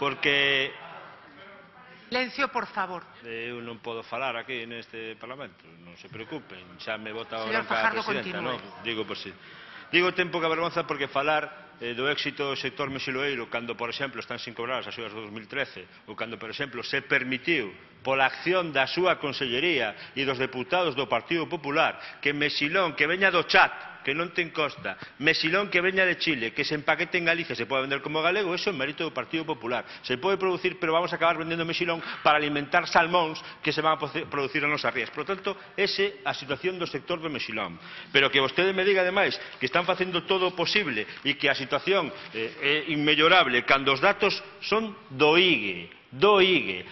porque... Silencio, por favor. Eu non podo falar aquí neste Parlamento, non se preocupen, xa me bota a Señor bronca a Fajardo, presidenta, continúe. non? Digo por si. Digo ten pouca vergonza porque falar do éxito do sector mexiloeiro cando, por exemplo, están sin cobrar as axudas do 2013 ou cando, por exemplo, se permitiu pola acción da súa consellería e dos deputados do Partido Popular que mexilón que veña do Chat, que non ten costa, mexilón que veña de Chile, que se empaquete en Galicia, se pode vender como galego, eso é mérito do Partido Popular. Se pode producir, pero vamos a acabar vendendo mexilón para alimentar salmóns que se van a producir nas nosas rías. Por lo tanto, esa é a situación do sector do mexilón. Pero que vostede me diga, ademais, que están facendo todo o posible e que a situación é inmellorable, cando os datos son do IGE,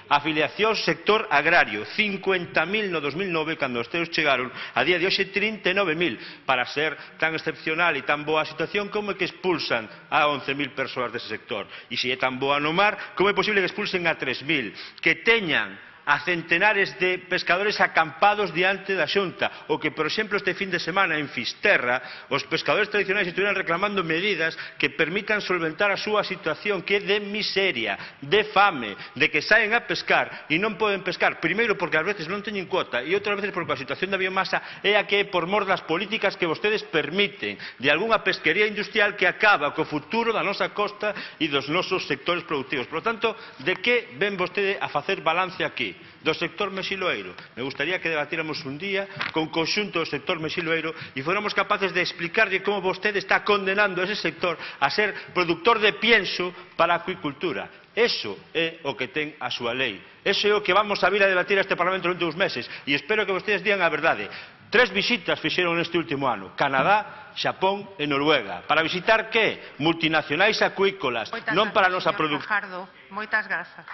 afiliación sector agrario, 50.000 no 2009, cando os teus chegaron, a día de hoxe 39.000, para ser tan excepcional e tan boa a situación, como é que expulsan a 11.000 persoas dese sector? E se é tan boa no mar, como é posible que expulsen a 3.000? Que teñan a centenares de pescadores acampados diante da Xunta, ou que, por exemplo, este fin de semana en Fisterra, os pescadores tradicionais estiveran reclamando medidas que permitan solventar a súa situación, que é de miseria, de fame, de que saen a pescar e non poden pescar, primeiro porque ás veces non teñen cuota e outras veces porque a situación da biomasa é a que é por mor das políticas que vostedes permiten, de algunha pesquería industrial que acaba co futuro da nosa costa e dos nosos sectores productivos. Por lo tanto, de que ven vostede a facer balance aquí? Do sector mexiloeiro. Me gustaría que debatíramos un día con conxunto do sector mexiloeiro e fóramos capaces de explicarlle como vostede está condenando a ese sector a ser productor de pienso para a acuicultura. Eso é o que ten a súa lei. Eso é o que vamos a vir a debatir a este Parlamento durante uns meses e espero que vostedes digan a verdade. 3 visitas fixeron neste último ano: Canadá, Xapón e Noruega. Para visitar que? Multinacionais acuícolas, non para a nosa produción. Moitas grazas.